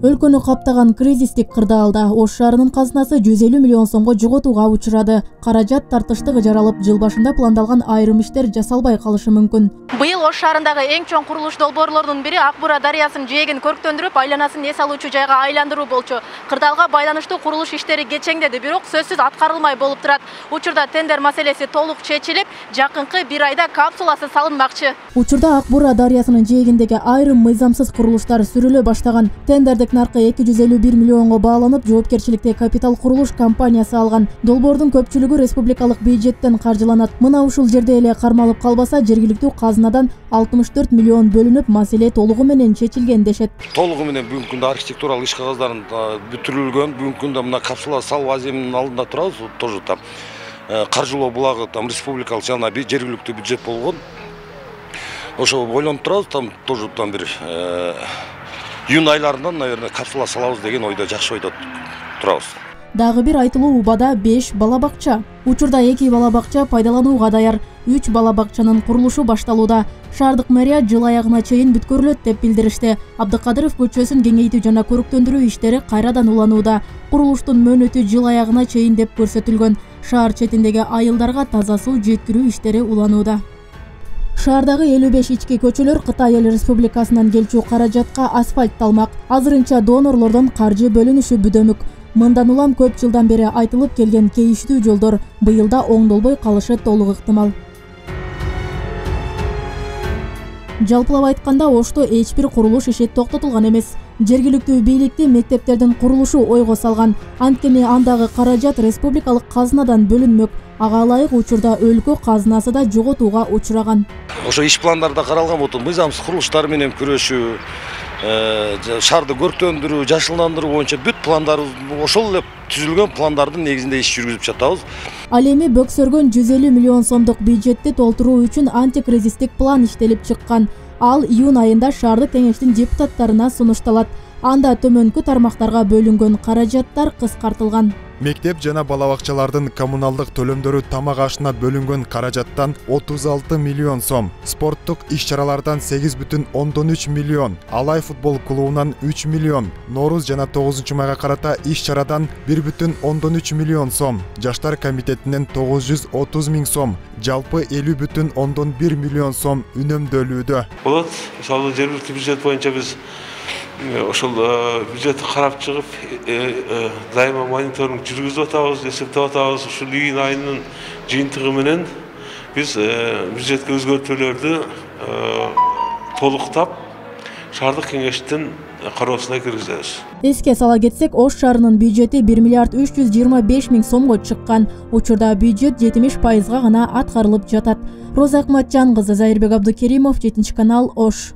Өлкөнү каптаган кризистик кырдаалда Ош шаарынын казынасы 150 миллион сомго жоготууга учурады. Каражат тартыштык жаралып, жыл башында пландалган айрым иштер жасалбай калышы мүмкүн. Быйыл Ош шаарындагы эң чоң курулуш долбоорлорунун бири Ак Бура дарыясынын жээгин көрктөндүрүп, айланасын эс алуучу жайга айландыруу болчу. Кырдаалга байланыштуу курулуш иштери кечеңдеди, бирок сөзсүз аткарылмай болуп турат. Учурда тендер маселеси толук чечилип, жакынкы бир айда капсуласы салынмакчы. Учурда Ак Бура дарыясынын жээгиндеги айрым мыйзамсыз курулуштар сүрүлө баштаган. Тендердик наркы 251 миллионго бааланып, жоопкерчиликти Капитал курулуш компаниясы алган. Долбоордун көпчүлүгү республикалык бюджеттен каржыланат. Мына ушул жерде эле кармалып калбаса, жергиликтүү казынадан 64 миллион бөлүнүп, маселе толугу менен чечилген дешет. Толугу менен бүгүнкү күндө архитектуралык иш кагаздарын бүтүрүлгөн. Бүгүнкү күндө мына капсула салуу аземинин алдында турабыз. Тоже там каржылоо булагы там республикалык жана жергиликтүү бюджет болгон. Ошо ойлонуп турабыз, там тоже там бир июнь айларынан, наверное, капсула салабыз деген ойдо, жакшы ойдо турабыз. Дагы бир айтылуу убада 5 бала бакча. Учурда 2 бала бакча пайдаланууга даяр. 3 бала бакчанын курулушу башталууда. Шаардык мэрия жыл аягына чейин бүткөрүлөт деп билдиришти. Абдыкадыров көчөсүн кеңейтүү жана көрктөндүрүү иштери кайрадан уланууда. Курулуштун мөөнөтү жыл аягына чейин деп көрсөтүлгөн. Шаар четиндеги айылдарга таза суу жеткирүү иштери уланууда. Шаардагы 55 ички көчөлөр Кытай Эл Республикасынан келчү каражатка асфальтталмак. Азырынча донорлордон каржы бөлүнүшү бүдөмүк. Мындан улам көп жылдан бери айтылып келген кейиштүү жолдор быйылда оңдолбой калышы толук ыктымал. Жалпылап айтканда, Ошто эч бир курулуш иши токтотулган эмес. Жергиликтүү бийликти мектептердин курулушу ойго салган. Анткени андагы каражат республикалык казынадан бөлүнмөк. Ага ылайык учурда өлкө казынасы да жоготууга учураган. Ошо иш пландарда каралган болот, мыйзамсыз курулуштар менен күрөшүү, шаарды көрктөндүрүү, жашылдандыруу боюнча бүт пландарыбыз ошол эле түзүлгөн пландардын негизинде иш жүргүзүп жатабыз. Ал эми бөксөргөн 150 миллион сомдук бюджетти толтуруу үчүн антикризистик план иштелип чыккан. Ал июнь айында шаардык кеңештин депутаттарына сунушталат. Анда төмөнкү тармактарга бөлүнгөн каражаттар кыскартылган. Мектеп жана бала бакчалардын коммуналдык төлөмдөрү тамак ашына бөлүнгөн каражаттан 36 миллион сом, спорттук иш-чаралардан 8,3 миллион, Алай футбол клубунан 3 миллион, Нооруз жана 9 майга карата иш-чарадан 1,3 миллион сом, Жаштар комитетинен 930 миң сом, жалпы 50,1 миллион сом үнөмдөлүүдө. Болот, мисалы жергиликтүү бюджет боюнча биз ошол бюджетти карап чыгып, дайыма мониторинг жүргүзүп атабыз, эсептеп атабыз. Ушул июнь айынын жыйынтыгы менен биз бюджетке өзгөртүүлөрдү толуктап, шаардык кеңештин кароосуна киргизебиз. Эске сала кетсек, Ош шаарынын бюджети 1 миллиард 325 миң сомго чыккан. Учурда бюджет 70% гана аткарылып жатат. Роза Акматжан кызы, Зайырбек Абдыкеримов, 7 канал, Ош.